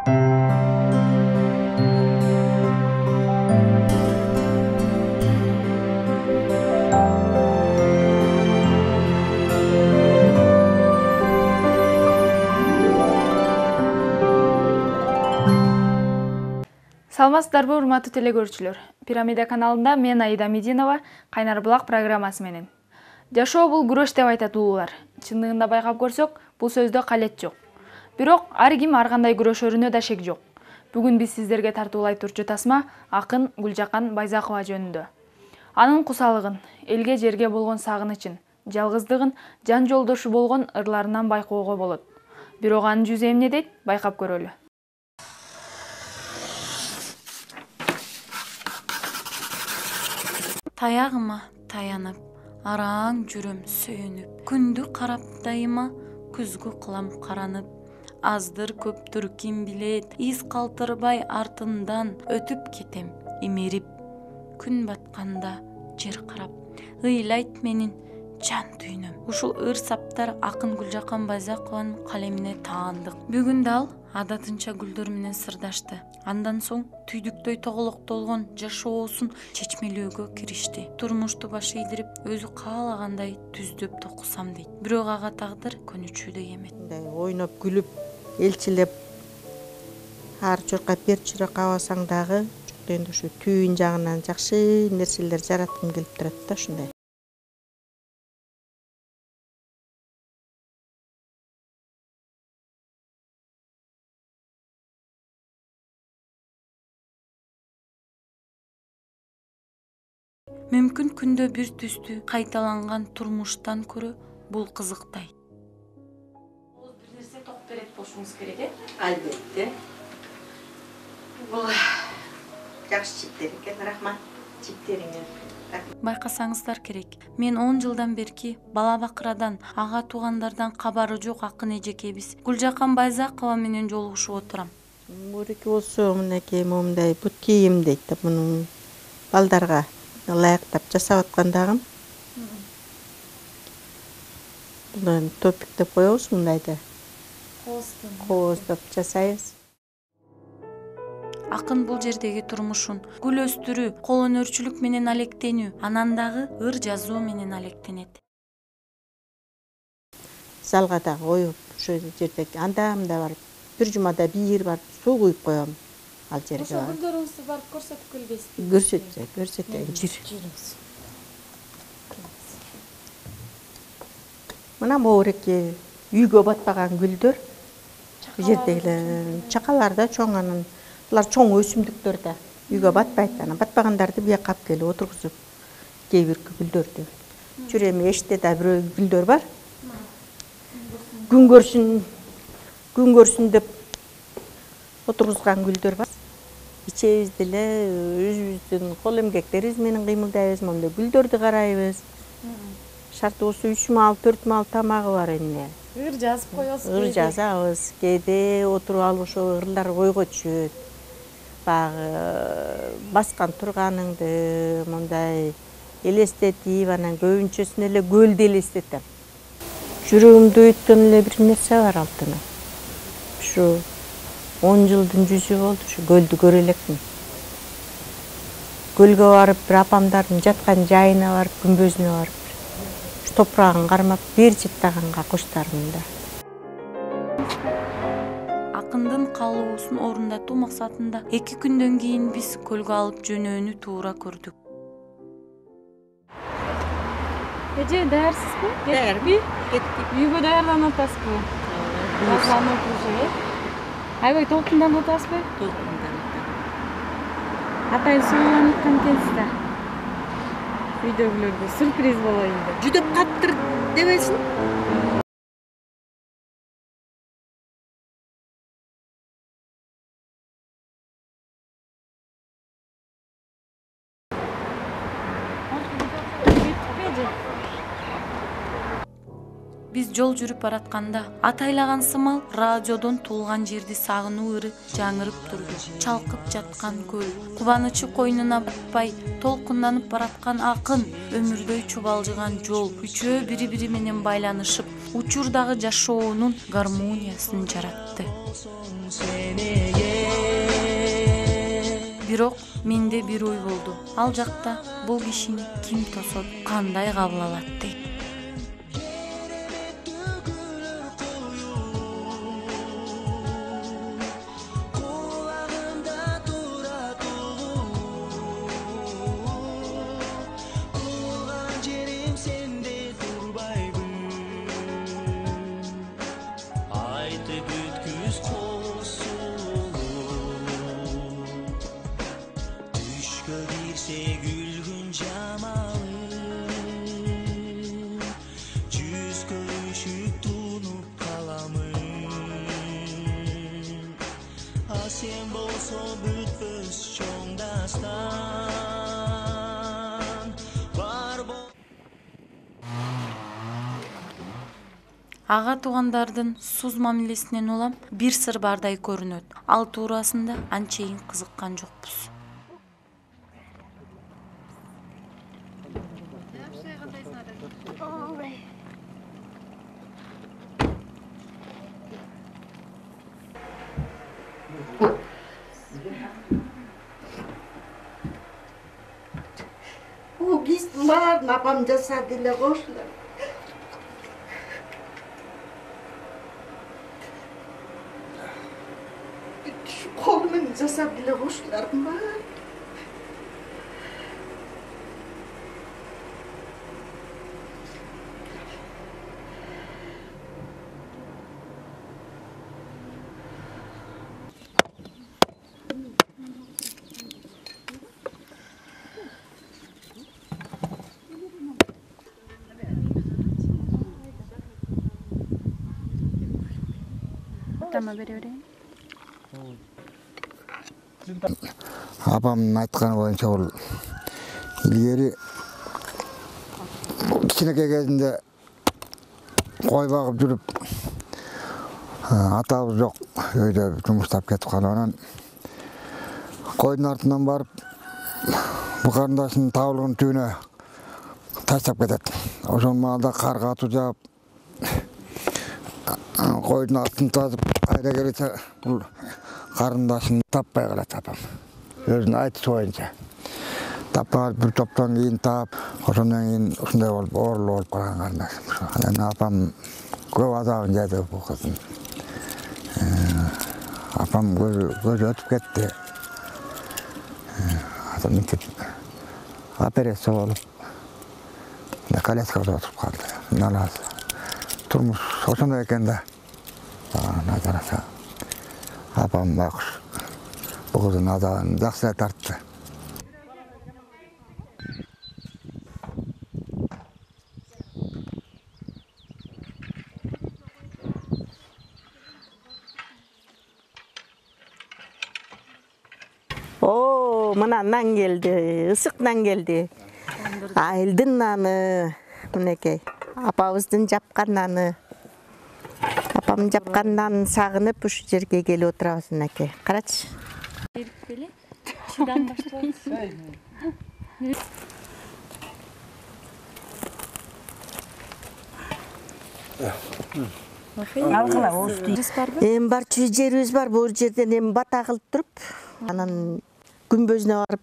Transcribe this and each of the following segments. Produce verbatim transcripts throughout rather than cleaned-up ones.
Саламатсыздарбы, урматтуу телекөрүүчүлөр. Пирамида каналында мен Аида Мединова, Кайнар булак программасы менен. Жашоо бул күрөш деп айтат улуулар. Чындыгында байкап көрсөк, бул сөздө калет жок. Бирок ар ким ар кандай күрөшөрүнө да шек жок. Бүгүн биз сиздерге тартуулай турчу тасма акын Гүлжакан Байзакова жөнүндө. Анын кусалыгын, элге жерге болгон сагынычын, жалгыздыгын, жан жолдошу болгон ырларынан байкоого болот. Бирок анын жүзү эмне дейт, байкап көрөлү. Таягыма таянып, араң жүрөм сүйүнүп, күндү карап дайыма, күзгү кылам каранып. Аздыр көптүр ким билет, из калтырбай артымдан өтүп кетем имирип. Күн батканда жер карап, ыйлайт менин жан түйнөм. Ушул ыр саптар акын Гүлжакан Байзакованын калемине таандык. Бүгүн дал адатынча гүлдөр менен сырдашты. Андан соң түйдүктөй тоголоктолгон жашоосун чечмелөөгө киришти. Турмушту баш ийдирип, өзү каалагандай түздөп токусам дейт. Бирок ага тагдыр көнүчүдөй эмес. Ойноп күлүп, элчилеп ар жакка бер чырак абасаң дагы, эndi ушу түйүн жагынан жакшы нерселер жараткым келип турат да ушундай. Мүмкүн күндө бир түстүү кайталанган турмуштан көрө бул кызыктай. Бир нерсе топ берет болушуңуз керек, э? Албетте. Бул жакшы чиптер экен, рахмат. Чиптериңер. Байкасаңыздар керек. Мен он жылдан берки бала бакырадан, ага туугандардан кабары жок акын эжекебиз Гүлжакан Байзакова менен жолугушуп отурам. Мурики болсо мынакей момундай бут кийим дейт да, муну балдарга ылайыктап жасап аткандагым. Бул топик деп коебуз мындайды. Кооздоп жасайбыз. Акын бул жердеги турмушун гүл өстүрүү, кол өнөрчүлүк менен алектенүү, анан дагы ыр жазуу менен алектенет. Залга да коюп, ошол жерде анда-мында барып, бир жумада бир барып суу куюп коем. Ал жерге Ошо гүлдөрүңүздү барып көрсөтүп келбейсизби? Көрсөтсө, көрсөтөйүн. Жүрүңүз. Мына моуреки үйгө батпаган гүлдөр. Бул жердегилер чакалар да чоң, анан булар чоң өсүмдүктөр да үйгө батпайт. Анан батпагандарды бияка алып келип отургузуп, кээ бир гүлдөрдү. Жүрөм эшикте да бирөө гүлдөр бар. Күн көрсүн, күн көрсүн деп отургузган гүлдөр бар. Ичебиз деле өзүбүздүн кол эмгектерибиз менен кыймылдайбыз, мондай гүлдөрдү карайбыз. Шарты болсо үч маал, төрт маал тамагы бар эмне. Ыр жазып коесуз. Ыр жазабыз. Кээде отуруп алып ошо ырлар ойго түшөт. Баягы баскан турганыңды мондай элестетип, анан көбүнчөсүн эле көлдү элестетем. Жүрөгүмдө өткөн эле бир нерсе бар алтыным. Ушу он жылдын жүзү болду, ушу көлдү көрө элекмин. Көлгө барып, бир апамдардын жаткан жайына барып, күмбөзүнө барып, ушу топурагын кармап, бир жыттаганга коштармын да. Акындын каалоосун орундатуу максатында эки күндөн кийин биз көлгө алып жөнөөнү туура көрдүк. Эже, даярсызбы? Даярбы? Кеттик. Үйгө даярданып атасызбы? Базардан уже, э? Аябай толкундан атасызбы? Толкундан. Атайын сууланып аткан экенсиз да. Үйдөгүлөргө сюрприз болоюн деп. Жүдөп каптыр дебесин. Биз жол жүрүп баратканда атайлаган сымал радиодон туулган жерди сагынуу ыры жаңырып турду. Чалкып жаткан көл, кубанычы койнуна батпай толкунданып бараткан акын, өмүрдөй чубалжыган жол үчөө бири-бири менен байланышып, учурдагы жашоонун гармониясын жаратты. Бирок менде бир ой болду. Ал жакта бул кишини ким тосот, кандай кабыл алат дейт. Ага туугандардын суз мамилесинен улам бир сыр бардай көрүнөт. Ал туурасында анчейин кызыккан жокпуз. Bu gitsin var, napam cesadıyla koştular. Şu kolumun cesadıyla koştular mı? Апамдын айтканы боюнча бул илгери кичинекей кезинде кой багып жүрүп атабыз жок, өйдө жумуштап кетип калып анан койдун артынан барып бул карындашынын табылгын түбүнө таштап кетет. Ошол маалда кар катуу жаап койдун артын тазып кайра келече бул карындашын таппай калат апам. Өзүнүн айтышы боюнча. Таппай бир топтон кийин таап, ошондон кийин ушундай болуп оорулуу болуп калган карындаш. Анан апам көп азабын жады бул кыздын. Апам көзү өтүп кетти. Атам мынтип операция болуп, коляскада отуруп калды. Налаз. Турмуш ошондой экен да. Назараса. Апам байкуш бул кыздын азабын жакшы эле тартты. Oo, mına nan geldi, ısık nan geldi. Ayıldın nanı, mınekey. Apabыздын жапкан наны. Апам жапкан нанын сагынып ушу жерге келип отурабыз мынакей. Карачы. Берип беле? Чыдан башталат. Эми барчу жерибиз бар, бул жерден эми бата кылып туруп, анан күмбөзүнө барып,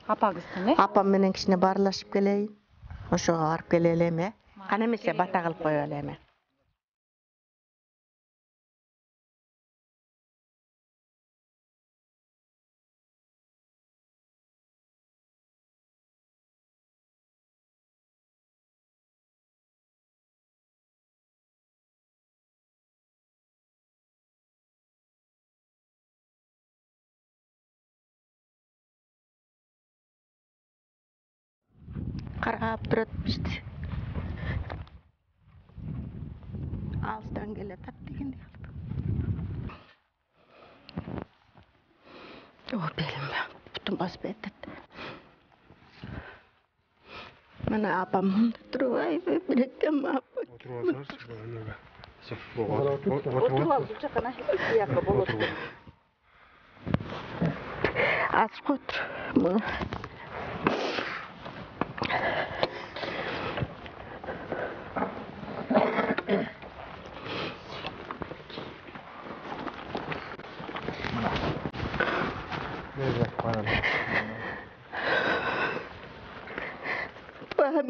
Апаңыздын, э? апам менен кичине баарлашып келейин. Ошого барып келе элем, э? Кана эмесе бата кылып коё элем. Каргап турат бизди. Алыстан келатат дегендей кылып. О, белим бүтүн басып кетет. Мына апам мында туруп, ай, биректен апам. Отуруп алсаңыз, эмеге. Отуруп ал, бул жакка бияка болот. Ачып отур.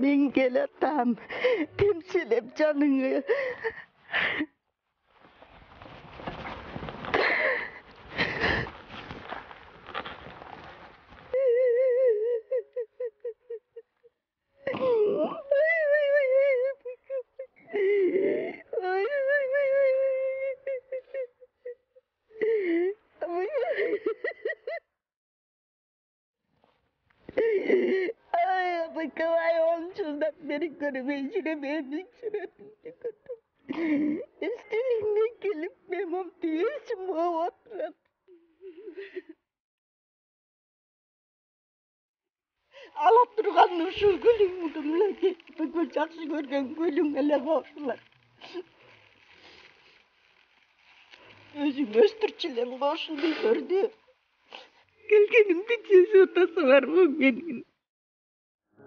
Ben geletem, temsilip canını. Bakavay olmuşundan beri görmeyişine benim şerefim çıkarttım. Üstüne gelip memam diyesim o oturan. Alat durgan şu gülüm mudumla ki bu jakşı görgen gülüm ele boşlar. Özüm östürçülem boşuldu gördü. Gelgenimde cezi otası var bu benim.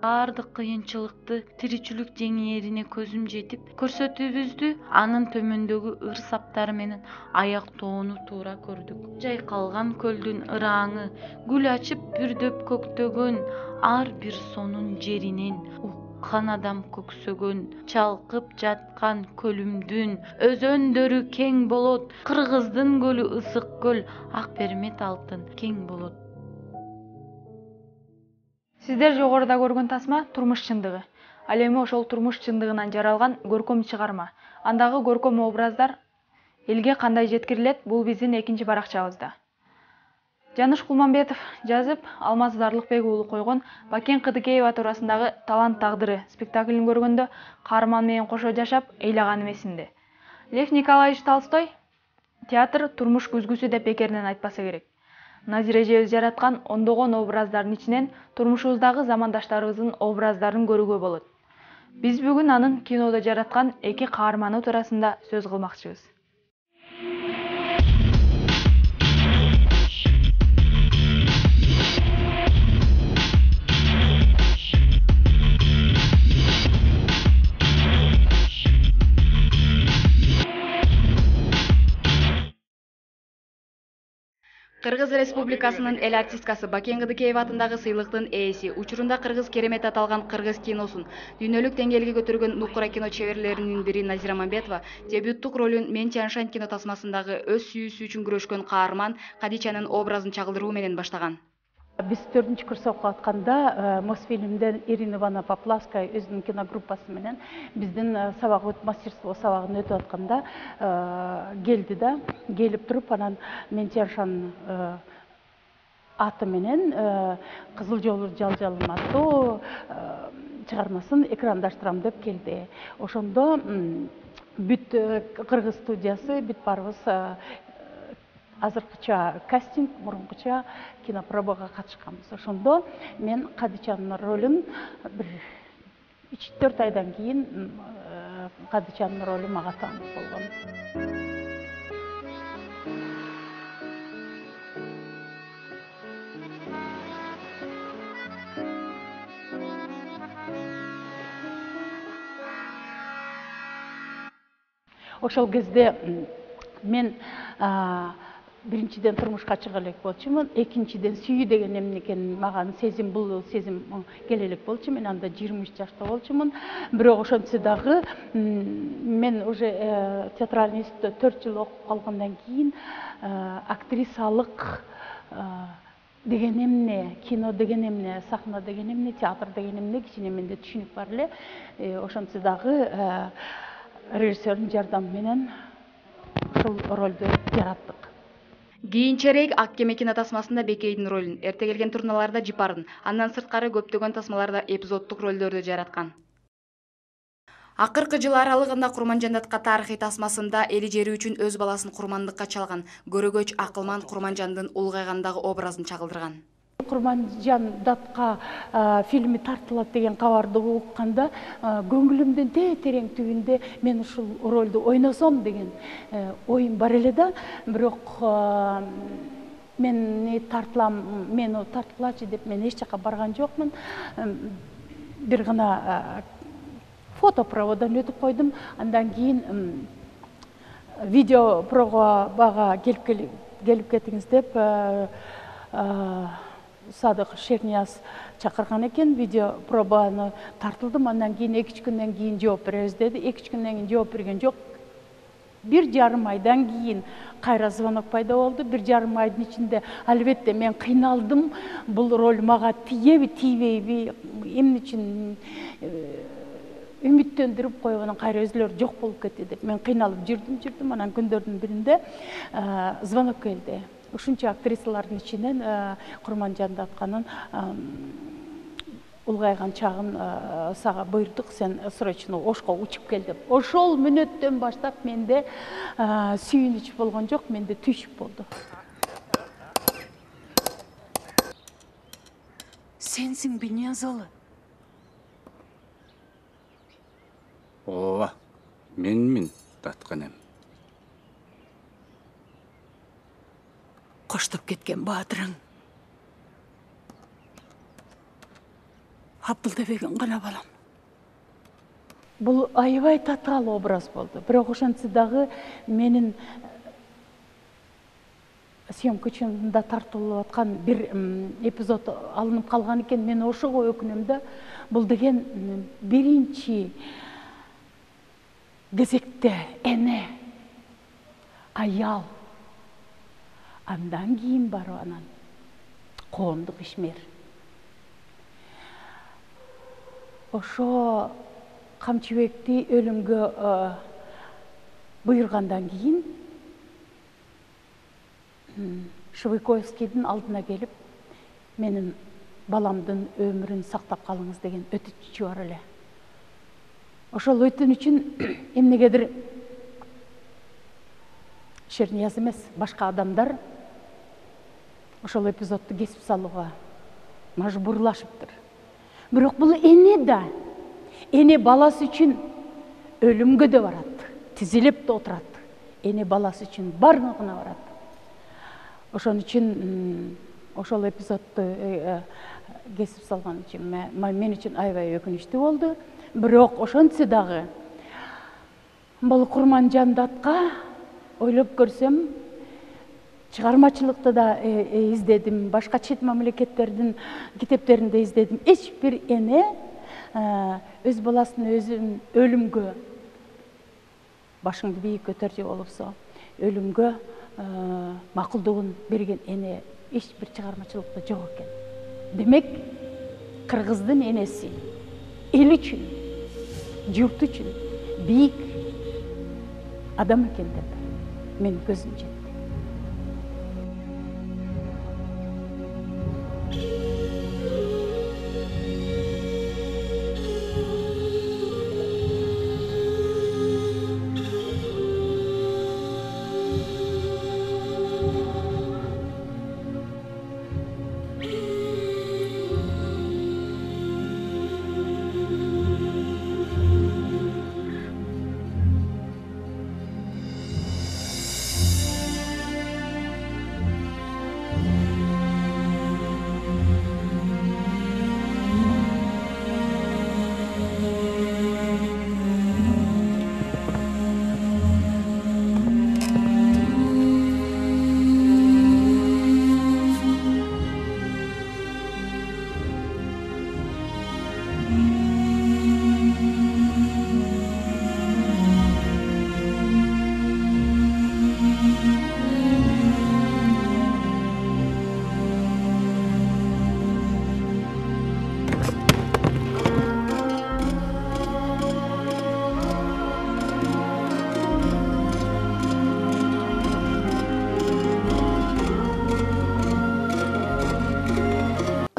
Баардык кыйынчылыкты тиричилик жеңээрине көзүм жетип көрсөтүүбүздү анын төмөндөгү ыр саптары менен аяктоону туура көрдүк. Жайкалган көлдүн ыраңы гүл ачып бүрдөп көктөгөн, ар бир сонун жеринен уккан адам көксөгөн, чалкып жаткан көлүмдүн өзөндөрү кең болот, Кыргыздын көлү ысык көл, ак пермет алтын кең болот. Сиздер жогоруда көргөн тасма турмуш чындыгы. Ал эми ошол турмуш чындыгынан жаралган көркөм чыгарма. Андагы көркөм образдар элге кандай жеткирилет, бул биздин экинчи баракчабызда. Жаныш Кулманбетов жазып, Алмаз Дарлыкбек уулу койгон Бакен Кыдыкеева туурасындагы Талант тагдыры спектаклин көргөндө каарман менен кошо жашап, ыйлаганым эсимде. Лев Николаевич Толстой театр турмуш күзгүсү деп бекеринен айтпаса керек. Назир эжебиз жараткан ондогон образдардын ичинен турмушубуздагы замандаштарыбыздын образдарын көрүүгө болот. Биз бүгүн анын кинодо жараткан эки каарманы туурасында сөз кылмакчыбыз. Кыргыз Республикасынын эл артисткасы Бакен Кыдыкеева атындагы сыйлыктын ээси, учурунда Кыргыз керемет аталган кыргыз киносун дүйнөлүк деңгээлге көтөргөн нукура кино чеберлеринин бири Назира Мамбетова дебюттук ролун Мен Тяншань кино тасмасындагы өз сүйүүсү үчүн күрөшкөн каарман Кадичанын образын чагылдыруу менен баштаган. Биз төртүнчү курс окуп атканда Мосфильмден Ирина Ивановна Поплавская өзүнүн киногруппасы менен биздин сабак өтүп мастерство сабагын өтүп атканда келди да, келип туруп анан Мен Тяншань аты менен Кызыл жолу жалжалым аттуу чыгармасын экрандаштырам деп келди. Ошондо бүт Кыргыз студиясы, бүт баарыбыз азыркыча кастинг, мурункуча кинопробага катышканбыз. Ошондо мен Кадичанын ролун бир үч төрт айдан кийин Кадичанын ролу мага тааныш болгон. Ошол кезде мен биринчиден турмушка чыга элек болчумун, экинчиден сүйүү деген эмне экенин мага сезим, бул сезим келе элек болчу. Мен анда жыйырма үч жашта болчумун. Бирок ошентсе дагы мен уже театральный институтта төрт жыл окуп калгандан кийин актрисалык деген эмне, кино деген эмне, сахна деген эмне, театр деген эмне кичине менде түшүнүк бар эле. Ошентсе дагы режиссердин жардамы менен ушул ролду жараттык. Кийинчерээк Ак кеме кино тасмасында Бекейдин ролун, эрте келген турналарда Жипарын, андан сырткары көптөгөн тасмаларда эпизоддук ролдорду жараткан. Акыркы жыл аралыгында Курманжандатка тарыхый тасмасында эли жери үчүн өз баласын курмандыкка чалган Көрөгөч Акылман Курманжандын улгайгандагы образын чагылдырган. Курманжан Датка фильми тартылат деген кабарды укканда көңүлүмдүн терең түбүндө мен ушул ролду ойносом деген оюм бар эле да, бирок мени тартылам, мени тартылачы деп мен эч жака барган жокмун. Бир гана фотопроводдон өтүп койдум. Андан кийин видео пробага келип келип кетиңиз деп Садык Шернияз чакырган экен. Видео пробаны тартылдым. Андан кийин эки үч күндөн кийин жооп беребиз деди. эки үч күндөн кийин жооп берген жок. Бир жарым айдан кийин кайра звонок пайда болду. Бир жарым айдын ичинде албетте мен кыйналдым. Бул роль мага тиеби, тийбейби, эмне үчүн үмүттөндүрүп коюп анан кайра өзүлөрү жок болуп кетти деп мен кыйналып жүрдүм, жүрдүм. Анан күндөрдүн биринде звонок келди. Ушунча актрисалардын ичинен Курманжан Датканын улгайган чагын сага буйрдук, сен срочно Ошко учуп кел деп. Ошол мүнөттөн баштап менде сүйүнүч болгон жок, менде түйшүк болду. Сенсиң Бениязалы? Ооба, менмин Датканем. Коштоп кеткен баатырың. Абдылдебегин гана балам. Бул аябай татаал образ болду. Бирок ошентсе дагы менин съемка учунда тартылып аткан бир эпизод алынып калган экен. Мен ошого өкүнөм да. Бул деген биринчи кезекте эне, аял, андан кийин барып анан коомдук ишмер. Ошо Камчыбекти өлүмгө буйругандан кийин Швыковскийдин алдына келип, менин баламдын өмүрүн сактап калыңыз деген өтүнүчү бар эле. Ошол өтүнүчүн эмнегедир Шернияз эмес, башка адамдар ошол эпизодду кесип салууга мажбурлашыптыр. Бирок бул эне да, эне баласы үчүн өлүмгө да барат, тизилип да отурат. Эне баласы үчүн бардыгына барат. Ошон үчүн ошол эпизодду кесип салган үчүн мен үчүн аябай өкүнүчтүү болду. Бирок ошентсе дагы бул Курманжан Датка ойлоп көрсөм, чыгармачылыкты да издедим, башка чет мамлекеттердин китептеринде издедим. Эч бир эне өз баласын өзүн өлүмгө, башыңды бийик көтөрчү болупсо, өлүмгө макулдугун берген эне эч бир чыгармачылыкта жок экен. Демек, кыргыздын энеси эл үчүн, журт үчүн бийик адам экен деп мен көзүм жетти.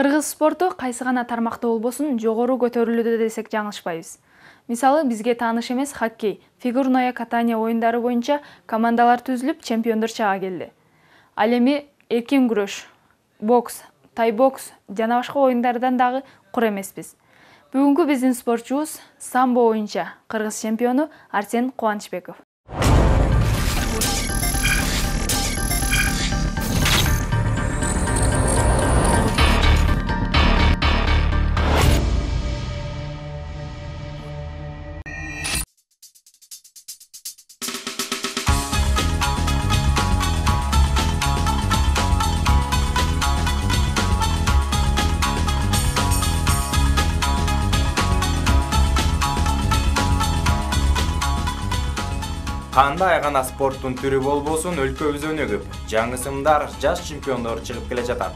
Кыргыз спорту кайсы гана тармакта болбосун жогору көтөрүлүүдө десек жаңылышпайбыз. Мисалы, бизге тааныш эмес хоккей, фигурное катание оюндары боюнча командалар түзүлүп, чемпиондор чыга келди. Ал эми эркин күрөш, бокс, тайбокс жана башка оюндардан дагы кур эмеспиз. Бүгүнкү биздин спортчубуз самбо боюнча кыргыз чемпиону Арсен Кубанычбеков. Кандай гана спорттун түрү болбосун, өлкөбүз өнүгүп, жаңы сымдар, жаш чемпиондор чыгып келе жатат.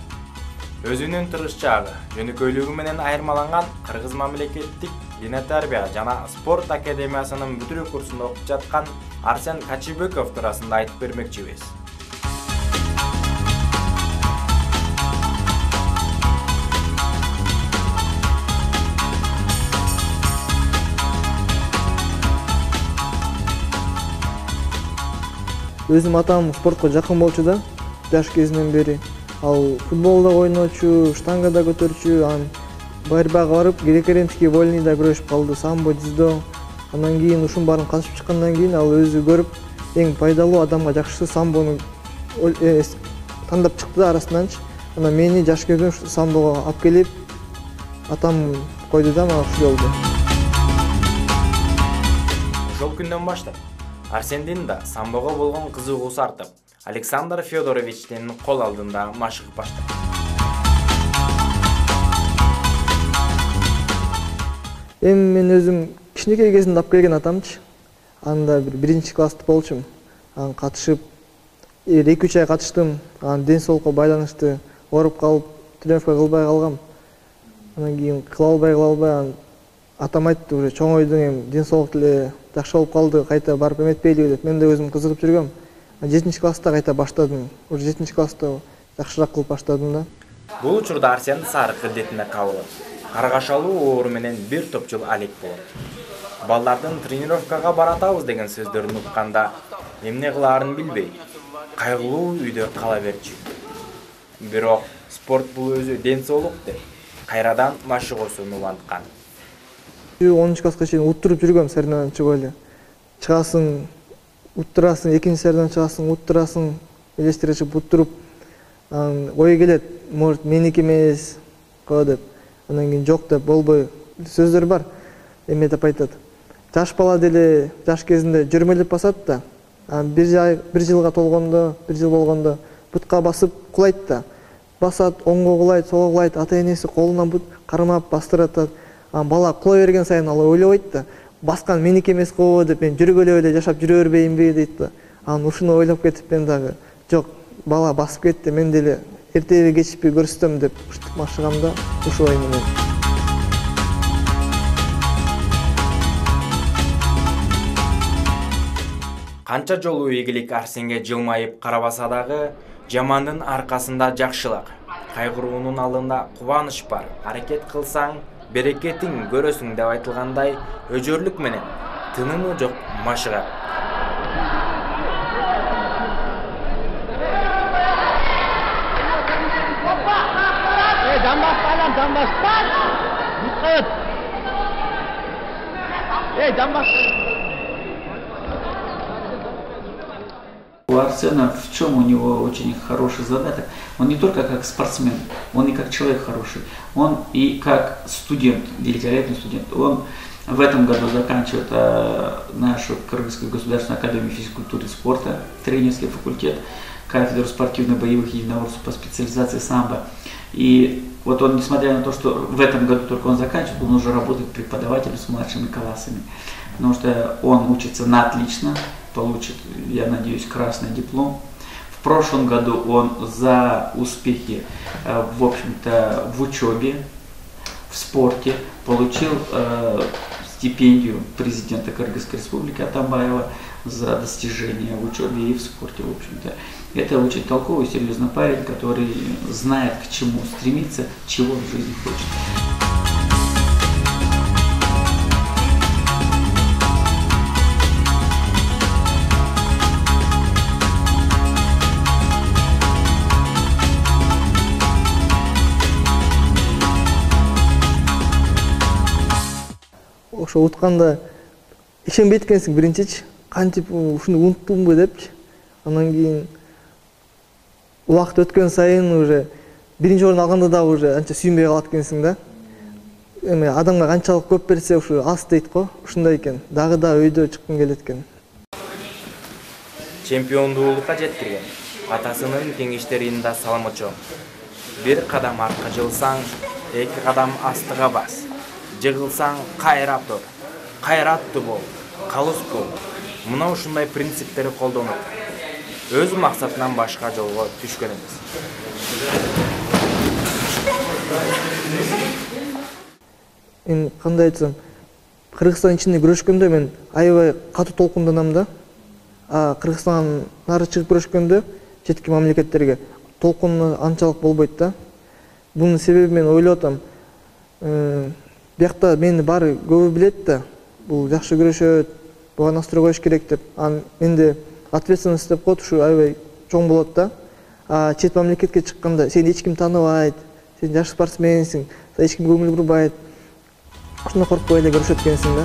Өзүнүн тырышчаагы, жөнөкөйлүгү менен айырмаланган Кыргыз мамлекеттик дене тарбия жана спорт академиясынын бүтүрүү курсунда окуп жаткан Арсен Качыбеков туурасында айтып бермекчибиз. Өзүм атам спортко жакын болчу да, жаш кезинен бери. Ал футболда ойночу, штангада көтөрчү, анан борьбага барып, греко-римский вольныйда күрөшүп калды, самбо, дзюдо. Андан кийин ушун баарын катышып чыккандан кийин ал өзү көрүп, эң пайдалуу адамга жакшысы самбону тандап чыкты да арасынанчы. Анан мени жаш кезинен самбого алып келип, атам койду да мага ушул жолду. Ошол күндөн баштап Арсендин да самбого болгон кызыгуусу артып, Александр Федоровичтин кол алдында машыгып баштады. Эми мен өзүм кичинекей кезимде алып келген атамчы. Анда бир биринчи класста болчумун. Анан катышып, эки үч ай катыштым. Анан ден соолукка байланыштуу ооруп калып, тренировка кылбай калгам. Анан кийин кыла албай кыла албай анан атам айтты, уже чоңойдуң, эми ден соолук деле жакшы болуп калды, кайта барып эметпейлиби деп. Мен да өзүм кызыгып жүргөм. жетинчи класста кайта баштадым. Уже жетинчи класста жакшыраак кылып баштадым да. Бул учурда Арсен сарык ildетине кабылып, каргашалуу оору менен бир топ жыл алек болот. Балдардын тренировкага баратабыз деген сөздөрүн укканда эмне кылаарын билбей, кайгылуу үйдө кала берчү. Бирок спорт бул өзү ден соолук деп, кайрадан машыгуусун уланткан. онунчу класска чейин уттуруп жүргөм, соревнованияга чыгып эле. Чыгасың, уттурасың, экинчи соревнованияга чыгасың, уттурасың, элестирип уттуруп, анан ой келет, может меники эмес го деп. Анан кийин жок деп болбой сөздөр бар. Эме деп айтат. Жаш бала деле жаш кезинде жүрмөлөп басат да. Анан бир бир жылга толгондо, бир жыл болгондо бутка басып кулайт да. Басат, оңго кулайт, солго кулайт, ата-энеси колунан бут кармап бастырат. Анан бала кула берген сайын ал ойлойт да, баскан меники эмес го деп, мен жүргөлөп эле жашап жүрө бербейинби дейт да. Анан ушуну ойлоп кетип мен дагы жок, бала басып кетти, мен деле эртеби кечпи көрсөтөм деп ушинтип машыгам да, ушул ой менен. Канча жолу ийгилик Арсенге жылмайып карабаса дагы, жамандын аркасында жакшылык, кайгыруунун алдында кубаныч бар. Аракет кылсаң, берекетиң көрөсүң деп айтылгандай, өжөрлүк менен тынымы жок машыга. Эй, дамбас балам, дамбас. Диккат. Эй, дамбас. У Арсена в чем у него очень хороший задаток? Он не только как спортсмен, он и как человек хороший. Он и как студент, великолепный студент. Он в этом году заканчивает а, нашу Кыргызскую государственную академию физкультуры и спорта, тренерский факультет, кафедру спортивно-боевых единоборств по специализации самбо. И вот он, несмотря на то, что в этом году только он заканчивает, он уже работает преподавателем с младшими классами. Потому что он учится на отлично, получит, я надеюсь, красный диплом. В прошлом году он за успехи, в общем-то, в учебе, в спорте получил э, стипендию президента Кыргызской республики Атамбаева за достижения в учебе и в спорте, в общем-то. Это очень толковый, серьезный парень, который знает, к чему стремиться, чего в жизни хочет. ошо утканда ишенбейт экенсиң биринчичи, кантип ушуну унуттумбу депчи. Анан кийин убакыт өткөн сайын уже биринчи орун алганда дагы уже анча сүйүнбөй калат экенсиң да. Эми адамга канчалык көп берсе ушу аз дейт го, ушундай экен. Дагы да өйдө чыккым келет экен. Чемпиондуулукка жеткирген атасынын кеңештеринде саламы чоң. Бир кадам артка жылсаң, эки кадам астыга бас. Жыгылсаң кайра тур. Кайраттуу бол, калыс бол. Мына ушундай принциптери колдонуп, өз максатынан башка жолго түшкөн эмес. Мен кандай айтсам, Кыргызстан ичинде күрөшкөндө мен аябай катуу толкунданам да. А Кыргызстан нары чыгып күрөшкөндө четки мамлекеттерге толкун анчалык болбойт да. Бунун себеби мен ойлоп атам. Биякта мени баары көбү билет да. Бул жакшы күрөшөт, буга настрой коюш керек деп. Анан менде ответственность деп коет, ушу аябай чоң болот да. А чет мамлекетке чыкканда сени эч ким тааныбайт, сен жаш спортсменсиң, эч ким көңүл бурбайт. Ушуну коркпой эле көрүшөт экенсиң да.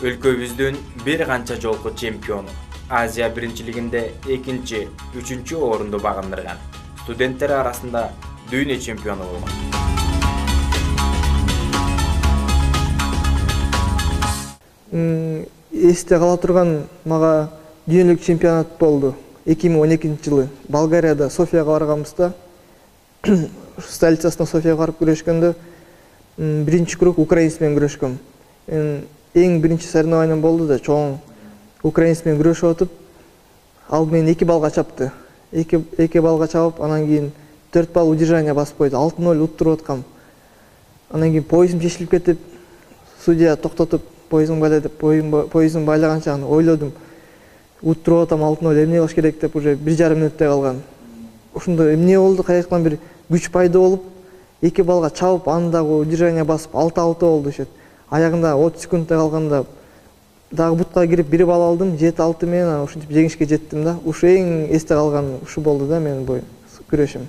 Өлкөбүздүн бир канча жолку чемпиону, Азия биринчилигинде экинчи, үчүнчү орунду багындырган. Студенттер арасында дүйнө чемпиону болгон. Эсте кала турган мага дүйнөлүк чемпионат болду. эки миң он экинчи жылы Болгарияда Софияга барганбызда, столицасына Софияга барып күрөшкөндө биринчи круг украинец менен күрөшкөм. Эң биринчи соревнованием болду да, чоң украинец менен күрөшүп атып, ал мени эки балга чапты. эки балга чабып, анан кийин төрт балл удержание басып койду. алты ноль уттуруп аткам. Анан кийин поясым чечилип кетип, судья токтотуп, поясың байлай деп, поясым байлаганча аны ойлодум. Уттуруп атам алты ноль, эмне кылыш керек деп уже бир жарым мүнөттөй калган. Ошондо эмне болду, каяктан бир күч пайда болуп, эки балга чабып, аны дагы удержание басып алты алты болду ишет. Аягында отуз секундтай калганда дагы бутка кирип бир балл алдым, жети алты менен ушинтип жеңишке жеттим да. Ушу эң эсте калган ушу болду да менин бу күрөшүм.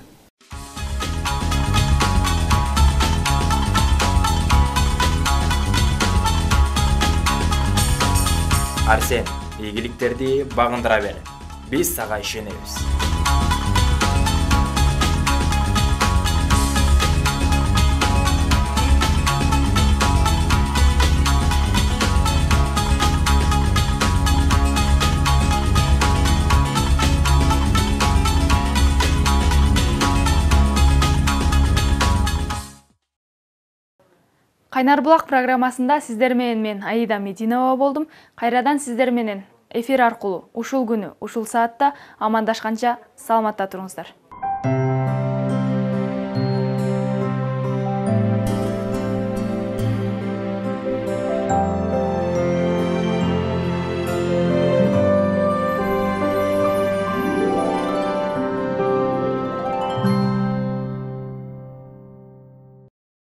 Арсен, ийгиликтерди багындыра бер. Биз сага ишенебиз. Кайнар булак программасында сиздер менен мен Аида Мединова болдум. Кайрадан сиздер менен эфир аркылуу ушул күнү, ушул саатта амандашканча саламатта туруңуздар. Thank you.